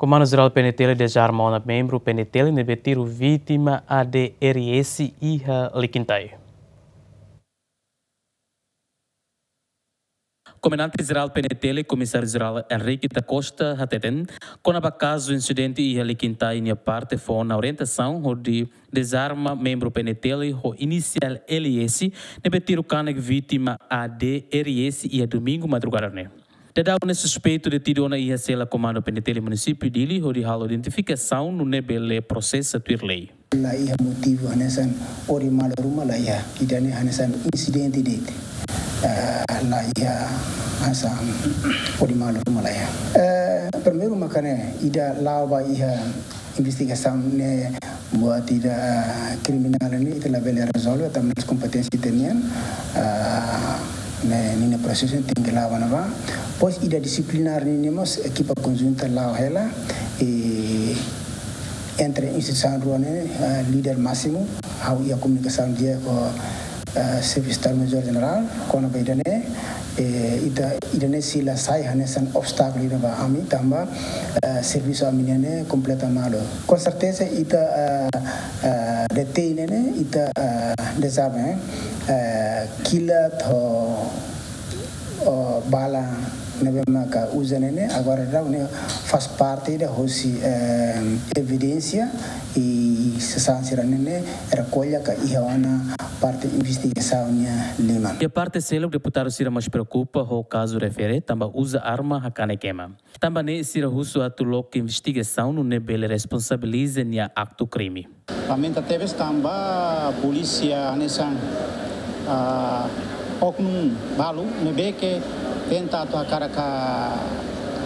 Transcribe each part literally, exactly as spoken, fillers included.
Komandu Jerál P N T L dezarma ona membru P N T L ne'ebé tiru vítima A D R S iha Likintai. Komandante Jerál P N T L, Komisáriu Jerál Henrique da Costa hateten, kona-ba kazu insidente iha Likintai nia parte fó ona orientasaun hodi dezarma membru P N T L ho inisiál L S ne'ebé tiru kanek vítima A D R S iha domingu madrugada ne'e. Daudaun ne'e suspeitu detidu ona iha sela Komandu P N T L Munisípiu Dili hodi halo identifikasaun nune'e bele prosesa tuir lei. La iha motivu hanesan odi malu ruma la iha. Ida-ne'e hanesan insidente de'it. Ah, la iha hanesan odi malu ruma la iha. Eh, primeiru maka ne'e ida la'o ba iha investigasaun ne'e buat ida, ah, kriminál ne'e ita labele rezolve, tanba kompeténsia ita-nian, ah, ne'e ninia prosesu tenke la'o ona ba. Depois ida disiplinár nian mós ekipa konjunta la'o hela, i entre instituisaun rua ne'e, ah, líder másimu, ha'u iha komunikasaun di'ak ho, ah, Xefe Estadu Major Jerál, kona-ba ida-ne'e, eh, ita, ida-ne'e sei la sai hanesan obstákulu ida ba ami, tanba, ah, servisu ami-nian ne'e kompleta malu. Com certeza, ita, ah, ah, D T I ne'e, ita, ah, dezarma, eh, ah, kilat ho, ho bala ne'ebé maka uza ne'e, agora daudaun ne'e faz parte ida hosi, eh, evidénsia i sasán sira-ne'e rekolla ka iha ona parte investigasaun nia liman. Iha parte seluk, deputadu sira mós preokupa ho kazu refere tanba uza arma hakanek ema. Tanba ne'e sira husu atu loke investigasaun nune'e bele responsabiliza nia aktu krime. Lamenta tebes tanba polísia hanesan, ah, oknum balu ne'ebé ke tenta atu hakarak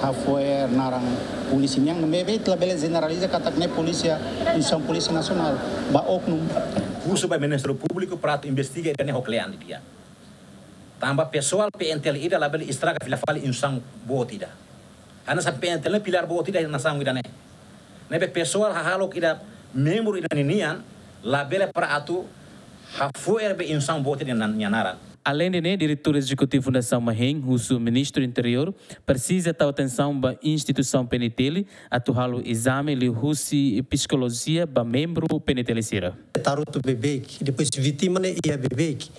hafo'er naran polísia nian, ne'ebé ita labele jeneraliza katak ne'e polísia, instituisaun Polísia Nasionál, ba oknum. Husu ba Ministériu Públiku para atu investiga ida-ne'e ho kle'an didi'ak. Tanba pesoál P N T L ida labele estraga fila fali instituisaun boot ida. Hanesan P N T L ne'e pilár boot ida nasaun ida-ne'e. Ne'ebé pesoál hahalok ida membru ida ninian labele para atu hafo'er be instituisaun boot ida nia naran. Aleinde ne'e, Diretór Ezekutivu Fundasaun Mahein husu Ministru Interiór presiza tau atensaun ba instituisaun P N T L atu halo ezame liuhusi psikolojia ba membru P N T L sira. Tarutu beibeik, depois vítima ne'e iha beibeik.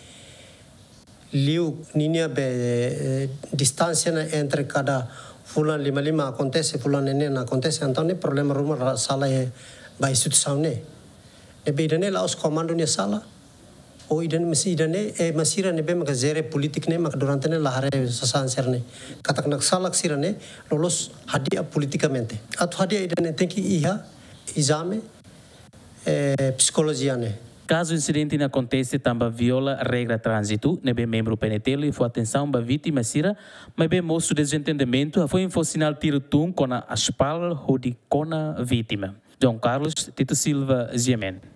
Liu ninia be, eh, distánsia ne'e entre kada fulan lima lima akontese, fulan neen neen akontese, entaun ne'e problema ruma la sala iha ba instituisaun ne'e. Ne'ebé ida-ne'e la'ós komandu nia sala. Ou ida-ne'e, mas ida-ne'e, eh, mas sira ne'ebé maka jere polítika ne'e maka durante ne'e la haree sasán sira-ne'e. Katak naksalak sira-ne'e loloos hadi'a politikamente. Atu hadi'a ida-ne'e tenke iha ezame, eh, psikolojia ne'e. Kazu insidente ne'e akontese tanba viola regra tránzitu, ne'ebé membru P N T L fó atensaun ba vítima sira, maibé mosu dezentendimentu, hafoin fó sinál tiru tun kona aspal hodi kona vítima. João Carlos Tito Silva, G M N.